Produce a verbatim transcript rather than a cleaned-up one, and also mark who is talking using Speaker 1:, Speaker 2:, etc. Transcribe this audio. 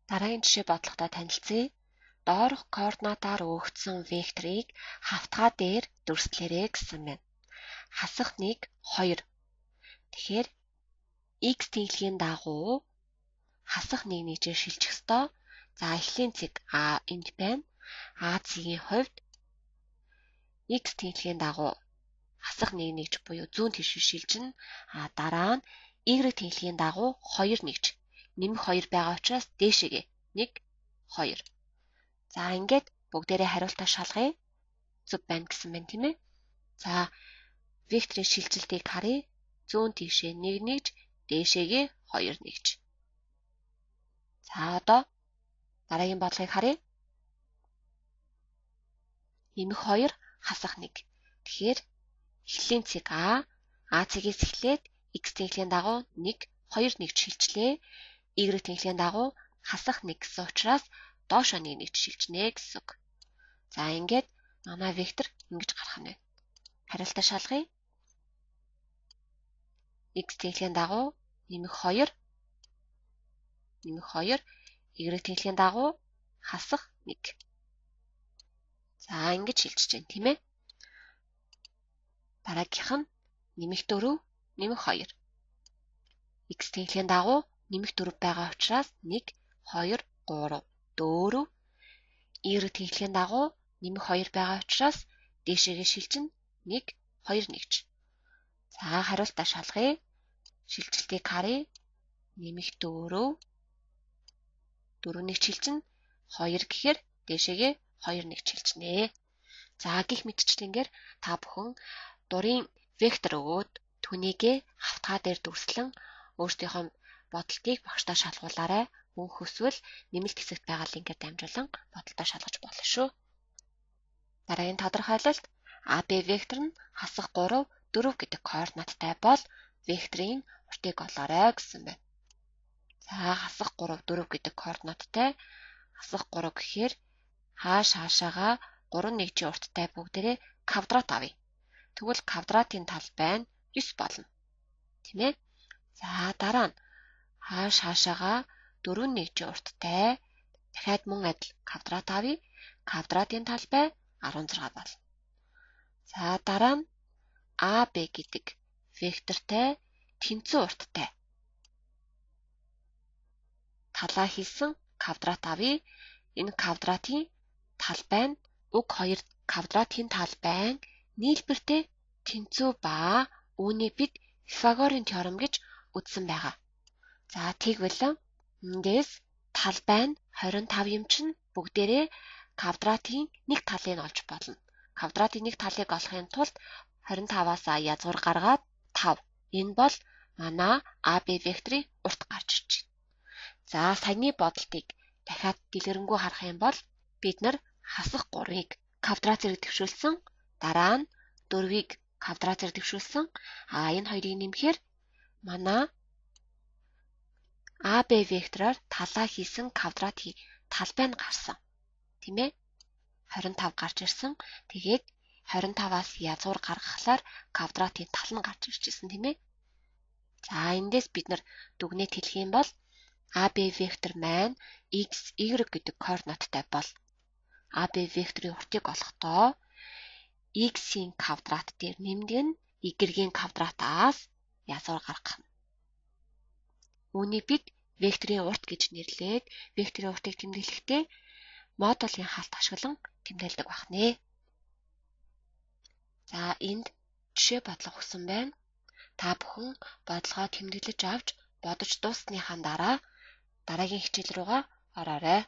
Speaker 1: Дараагийн жишээ бодлоготой танилцъя. Доорх координатаар өгөгдсөн векторыг хавтгай дээр дүрслээрэй гэсэн байна. Хасах нэг, хоёр. Тэгэхээр x тэнхлийн дагуу хасах нэг нэгжээр шилжих ёстой. За эхлийн цэг а энд байна. А цэгийн хувьд x тэнхлийн дагуу хасах нэг нэгж буюу зүүн тишээ шилжинэ. А дараа нь y тэнхлийн дагуу хоёр нэгж. Нэмэх хоёр байгаа учраас дээшээгээ нэг, хоёр. За ингээд бүгдээрээ хариултаа шалгая. Зөв байна гэсэн байна тийм ээ. За векторын шилжилтийг харъя. Зүүн тишээ нэг нэгж, дээшээгээ хоёр нэгж. За одоо дараагийн бодлогыг харъя. Нэмэх хоёр, хасах нэг. Тэгэхээр эхлэлийн цэг А, А цэгээс эхлээд x тэнхлийн дагуу нэг, хоёр нэгж шилжлээ. Y тэнхлийн дагуу хасах нэг гэсэн учраас доошоо нэг нэгж шилжнэ гэсэн үг. За ингээд манай вектор ингэж гарах нь байна. Хариултаа шалгая. X тэнхлийн дагуу нэмэх хоёр, нэмэх хоёр, Y тэнхлийн дагуу хасах нэг. За ингэж шилжиж байна тийм ээ. Дараагийнх нь нэмэх дөрөв, нэмэх хоёр. X тэнхлийн дагуу нэмэх дөрөв байгаа учраас нэг, хоёр, гурав, дөрөв. Y тэнхлийн дагуу нэмэх хоёр байгаа учраас дээшээгээ шилжинэ нэг, хоёр нэгж. За хариултаа шалгая. Шилжилтийг харъя. Нэмэх дөрөв, дөрөв нэгж шилжинэ. хоёр гэхээр дээшээгээ хоёр нэгж шилжнэ. За гих мэтчлэнгээр та бүхэн дурын вектор өгөөд түүнийгээ хавтгай дээр дүрслэн өөрсдийнхөө бодолтыг багштай шалгуулаарай. Мөн хүсвэл нэмэлт хэсэгт байгаа линкээр дамжуулан бодолтоо шалгаж болно шүү. Дараагийн тодорхойлолт а бэ вектор нь хасах гурав, дөрөв гэдэг координаттай бол векторын уртыг олоорой гэсэн байна. За хасах гурав, дөрөв гэдэг координаттай хасах гурав гэхээр хааш хаашаага гурав нэгжийн урттай бүгдээрээ квадрат авъя. Тэгвэл квадратын талбай нь девять болно. Тийм ээ. За дараа нь хааш хаашаага дөрөв нэгжийн урттай дахиад мөн адил квадрат авъя. Квадратын талбай арван зургаа болно. За дараа нь а бэ гэдэг вектортай тэнцүү урттай талаа хийсэн квадрат авъя. Энэ квадратын талбай нь уг хоёр квадратын талбай нь нийлбэртэй тэнцүү ба үүнийг бид Пифагорын теорем гэж үзсэн байгаа. За тэгвэл эндээс талбай нь двадцать и пять юм чинь бүгдээрээ квадратын нэг талыг олж болно. Квадратын нэг талыг олохын тулд двадцать и пять-аас язгуур гаргаад пять. Энэ бол манай а бэ векторын урт гарч ирж байна. За саяны бодолтыг дахиад дэлгэрэнгүй харах юм бол бид нар хасах гурвыг квадрат зэрэг дэвшүүлсэн, дараа нь дөрвийг квадрат зэрэг дэвшүүлсэн. А энэ хоёрыг нэмэхээр манай а бэ вектороор талаа хийсэн квадратын талбай нь гарсан. Тийм ээ? двадцать и пять гарч ирсэн. Тэгээд двадцать и пять-аас язгуур гаргахлаар квадратын тал нь гарч ирчихсэн тийм ээ? За эндээс бид нар дүгнэлт хэлэх юм бол а бэ вектор маань x, y гэдэг координаттай бол а бэ векторын уртыг олохдоо x-ийн квадрат дээр нэмдэг нь y-ийн квадратаас язгуур гаргах нь. Үүнийг бид векторын урт гэж нэрлээд векторын уртыг тэмдэглэхдээ модулын хаалт ашиглан тэмдэглэдэг байна. За энд жишээ бодлого өгсөн байна. Та бүхэн бодлогоо тэмдэглэж авч бодож дууссаныхаа дараа дараагийн хичээл рүүгээ ороорой.